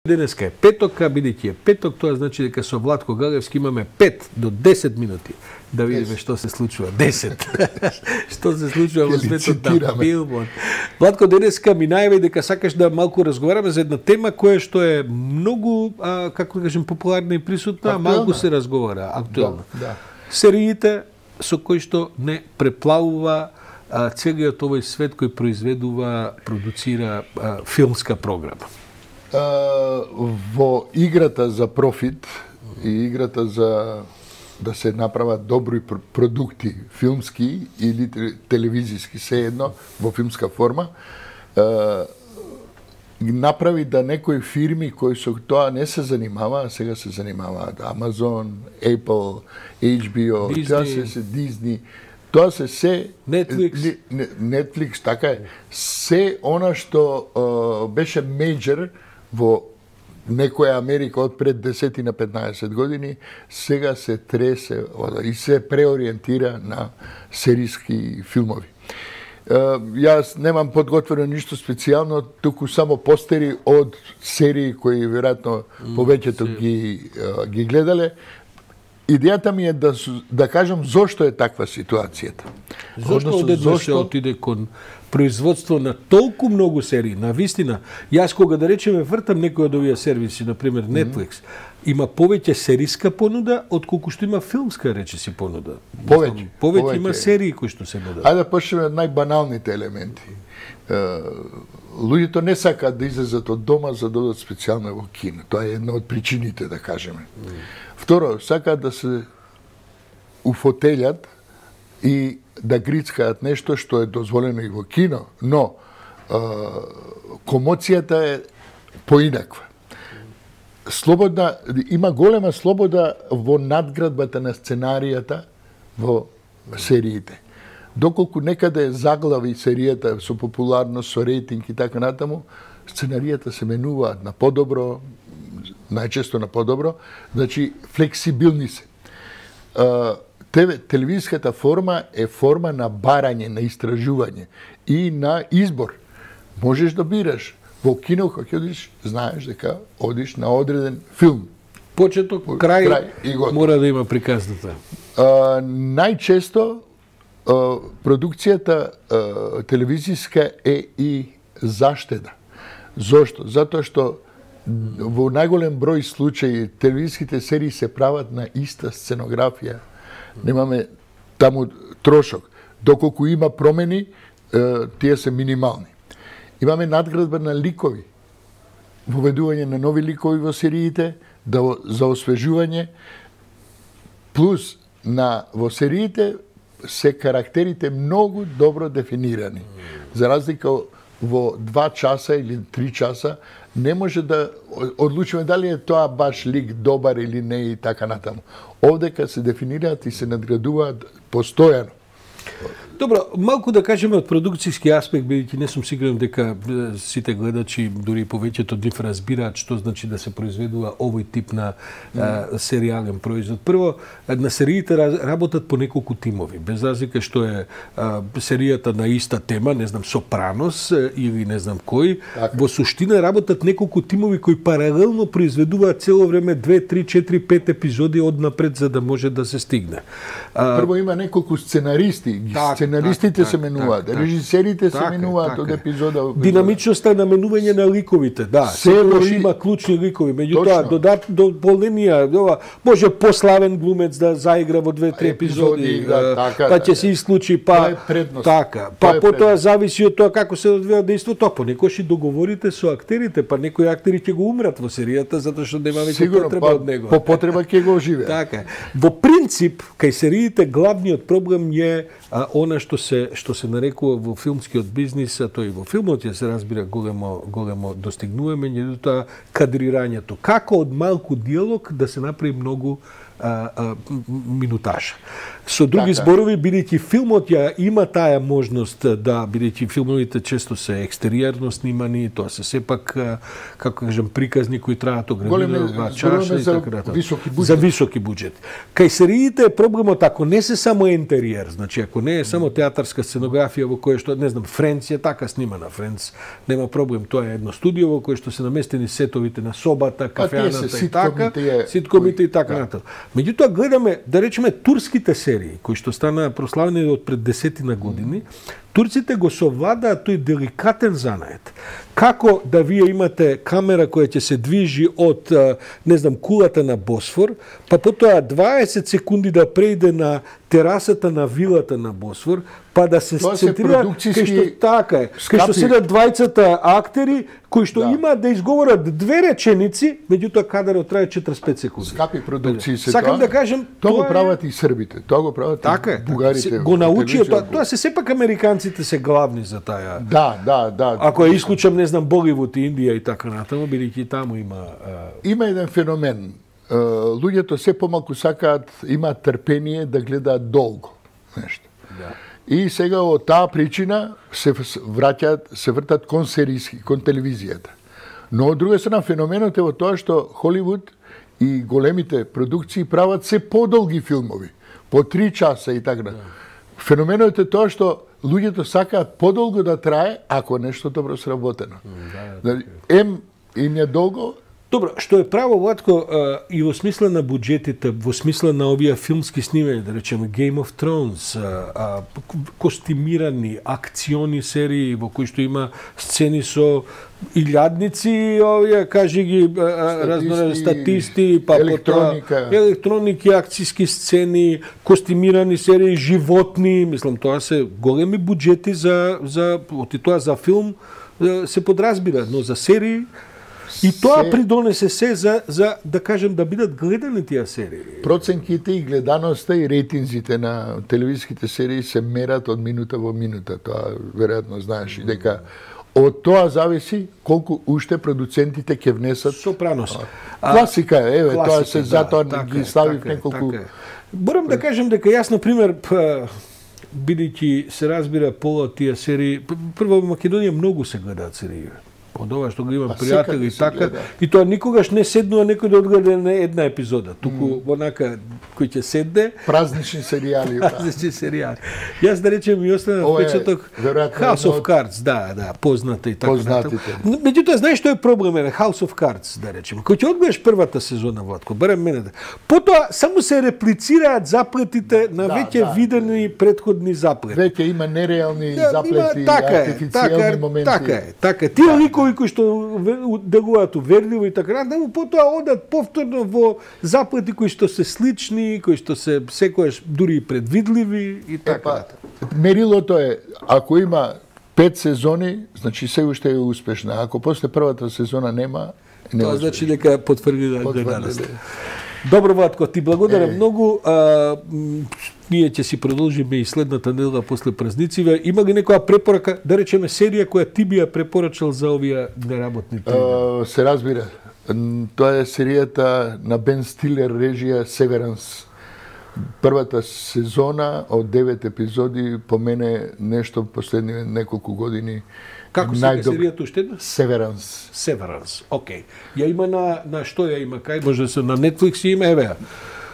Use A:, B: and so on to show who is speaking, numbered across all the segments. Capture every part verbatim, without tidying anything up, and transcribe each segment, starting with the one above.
A: Денеска е петок, а бидејќи е петок, тоа значи дека со Владко Галевски имаме пет до десет минути да видиме што се случува. десет. Што се случува во светот на филмот. Владко, денеска ми најави дека сакаш да малку разговараме за една тема која што е многу, а, како да кажем, популарна и присутна, а малку се разговара, актуелна.
B: Да, да.
A: Сериите со кои што не преплавува а, целиот овој свет кој произведува, продуцира а, филмска програма.
B: Во играта за профит и играта за да се направат добри продукти филмски или телевизиски, се едно во филмска форма, направи да некои фирми кои со тоа не се занимаваа, сега се занимаваат Amazon, Apple, H B O, тоа се се Disney, тоа се се
A: Netflix,
B: Netflix, така е, се она што uh, беше мејџор во некоја Америка од пред десет на петнаесет години, сега се тресе и се преориентира на серијски филмови. Uh, јас немам подготвено ништо специјално, туку само постери од серии кои веројатно повеќето ги uh, ги гледале. Идејата ми е да да кажам зошто е таква ситуацијата.
A: Зошто одеднаш се отиде кон производство на толку многу серии, на вистина. Јас кога да речеме вртам некој од овие сервиси, на пример Netflix, има повеќе серијска понуда отколку што има филмска, речиси, понуда.
B: Повеќе,
A: повеќе, повеќе има серии кои што се нудат.
B: Ајде да почнеме од најбаналните елементи. Луѓето не сакаат да излезат од дома за да одат специјално во кино. Тоа е една од причините, да кажеме. Второ, сакаат да се уфотелјат и да грицкаат нешто што е дозволено и во кино, но е, комоцијата е поинаква. Слободна, има голема слобода во надградбата на сценаријата во сериите. Доколку некаде заглави серијата со популарност, со рейтинг и така натаму, сценаријата се менуваат на подобро, најчесто на подобро, значи флексибилни се. Телевизиската форма е форма на барање, на истражување и на избор. Можеш да бираш. Во кино, кога одиш, знаеш дека одиш на одреден филм.
A: Почеток, крај, крај и мора да има приказната.
B: А, најчесто а, продукцијата а, телевизиска е и заштеда. Зошто? Затоа што во најголем број случаи телевизиските серии се прават на иста сценографија. Немаме таму трошок. Доколку има промени, тие се минимални. Имаме надградба на ликови. Воведување на нови ликови во сериите, да, за освежување, плюс на во сериите се карактерите многу добро дефинирани. За разлика во два часа или три часа не може да одлучиме дали е тоа баш лик добар или не и така натаму. Овдека се дефинираат и се надградуваат постојано.
A: Добро, малку да кажеме од продукцијски аспект, бидејќи не сум сигурен дека сите гледачи, дури повеќето од нив разбираат што значи да се произведува овој тип на а, серијален производ. Прво, на сериите работат по неколку тимови, без разлика што е а, серијата на иста тема, не знам, Сопранос или не знам кој, така. Во суштина работат неколку тимови кои паралелно произведуваат цело време две, три, четири, пет епизоди однапред за да може да се стигне.
B: А, Прво има неколку сценаристи, так, сценаристите так, се менуваат, так, режисерите так, се менуваат од епизода во епизода.
A: Динамичноста на менување на ликовите, да. Секој има клучни ликови, меѓутоа додат дополненија, ова може пославен глумец да заигра во две три епизоди,
B: да, така,
A: па ќе се исклучи, па така. Па потоа зависи од тоа како се одвива дејството, понекогаш и договорите со актерите, па некои актери ќе го умрат во серијата затоа што нема веќе потреба од него.
B: По потреба ќе го оживеат.
A: Така. Во принцип, кај сериите главниот проблем е а, она што се што се нарекува во филмскиот бизнис, а тој во филмот ја се разбира големо големо достигнување, меѓутоа кадрирањето. Како од малку диалог да се направи многу а, а, минутажа. Со други
B: така.
A: зборови, бидејќи филмот ја има таа можност да, бидејќи филмовите често се екстериерно снимани, тоа се сепак, како кажам, приказни кои траат ограничено два часа и така натаму.
B: Високи буџет.
A: За високи буџет. Кај сериите е проблемот ако не се само интериер, значи ако не е само театарска сценографија во која што, не знам, Френц е така снимана, Френц нема проблем, тоа е едно студио во кое што се наместени сетовите на собата, кафеаната и така, ситкомите и така натаму. Меѓутоа гледаме, да речеме, турските серии, кои што стана прославени од пред десетина години, турците го совладаат тој деликатен занает. Како да вие имате камера која ќе се движи од, не знам, кулата на Босфор, па потоа дваесет секунди да преиде на терасата на вилата на Босфор, па да се центрира кај што така е, кај што седат двајцата актери кои што да. имаат да изговорат две реченици, меѓутоа кадарот трае четиридесет и пет секунди.
B: Скапи продукции се
A: Сакам
B: тоа.
A: да кажам,
B: тоа го
A: тоа
B: прават и србите, тоа го прават
A: така
B: и бугарите.
A: Така, го научија тоа, тоа се сепак американците се главни за таа.
B: Да, да, да.
A: Ако ја исклучам, не знам, Боливуд и Индија и така натаму, бидејќи таму има
B: Има еден феномен. Луѓето се помалку сакаат, имаат трпение да гледаат долго нешто.
A: Да.
B: И сега од таа причина се враќаат, се вртат кон серијски, кон телевизијата. Но од друга страна феноменот е во тоа што Холивуд и големите продукции прават се подолги филмови, по три часа и така. Да. Феноменот е тоа што луѓето сакаат подолго да трае ако нешто добро сработено. Да, да, Ем им е долго.
A: Добро, што е право, Владко, и во смисла на буџетите, во смисла на овие филмски снимања, да речеме Game of Thrones, а, костимирани, акциони серии во кои што има сцени со илјадници, овие, кажи ги, разноразни статисти, па
B: електроника,
A: потоа, електроники, акцијски сцени, костимирани серии, животни, мислам, тоа се големи буџети за, за, оти тоа за филм се подразбира, но за серии, и тоа се... придонесе се за, за, да кажем, да бидат гледани тие серии.
B: Проценките и гледаноста и рейтинзите на телевизиските серии се мерат од минута во минута. Тоа веројатно знаеш и дека од тоа зависи колку уште продуцентите ќе внесат.
A: Сопранос.
B: Класика е, еве,
A: класика,
B: тоа се
A: да,
B: затоа
A: така
B: ги
A: е,
B: ставив
A: така
B: неколку.
A: Така Борам да кажем дека јас, например, бидејќи се разбира пола тие серии, прво во Македонија многу се гледаат серии. Од ова што го имам пријатели и така, и тоа никогаш не седнува некој да одгледа на една епизода, туку mm. онака кој ќе седне
B: празнични серијали.
A: празнични серијали. Јас да речем и остана впечаток House of Cards, да, да, позната и така натаму. Меѓутоа знаеш што е проблем е House of Cards, да речем. Кој ќе одгледаш првата сезона, Владко, барем мене да. Потоа само се реплицираат заплетите на
B: да,
A: веќе
B: да,
A: видени претходни заплети.
B: Веќе има нереални да, заплети,
A: има, така
B: артифицијални
A: така,
B: моменти.
A: Така е, така е. Тие ликови кои што делуваат уверливо и така натаму, потоа одат повторно во заплети кои што се слични, кои што се секојаш дури и предвидливи и така.
B: Епа, мерилото е, ако има пет сезони, значи се уште е успешна. Ако после првата сезона нема, не
A: тоа
B: успешна.
A: значи дека потврди гледаност. Добро, Владко, ти благодарам е. многу. А, ние ќе си продолжиме и следната недела после празнициве. Има ли некоја препорака, да речеме серија која ти би ја препорачал за овие неработни
B: uh, се разбира. Тоа е серијата на Бен Стилер режија Severance. Првата сезона од девет епизоди по мене нешто последни неколку години.
A: Како се најдоб... серијата уште една?
B: Severance.
A: Severance, окей. Ја има на, на што ја има? Кај може да се на Netflix има, еве.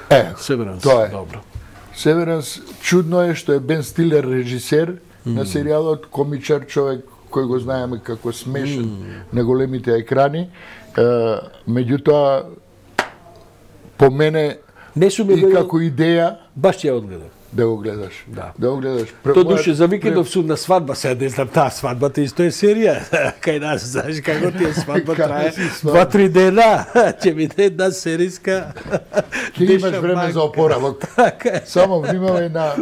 B: Е,
A: Severance,
B: тоа е.
A: Добро.
B: Severance, чудно е што е Бен Стилер режисер mm. на серијалот, комичар човек кој го знаеме како смешен mm. на големите екрани. Е, меѓутоа, по мене
A: не сум
B: и како идеја,
A: баш ќе ја одгледам.
B: Да го гледаш.
A: Да.
B: Да го гледаш.
A: Тоа душе за викендов сум на свадба, сега не знам таа свадбата исто е серија. Кај нас, знаеш како ти е свадба трае два-три дена, ќе биде една сериска.
B: Ќе имаш време за опоравок. Само внимавај на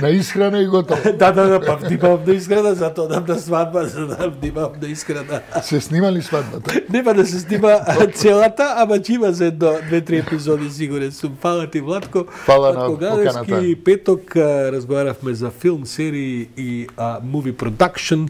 B: на исхрана и готово.
A: Да, да, да, па внимавам на исхрана, затоа дам на свадба, за да внимавам на исхрана.
B: Се снима ли свадбата?
A: Нема да се снима целата, ама ќе има за едно две-три епизоди сигурен сум. Фала ти, Владко.
B: Фала на поканата.
A: Петок разговаравме за филм, серии и uh, movie production.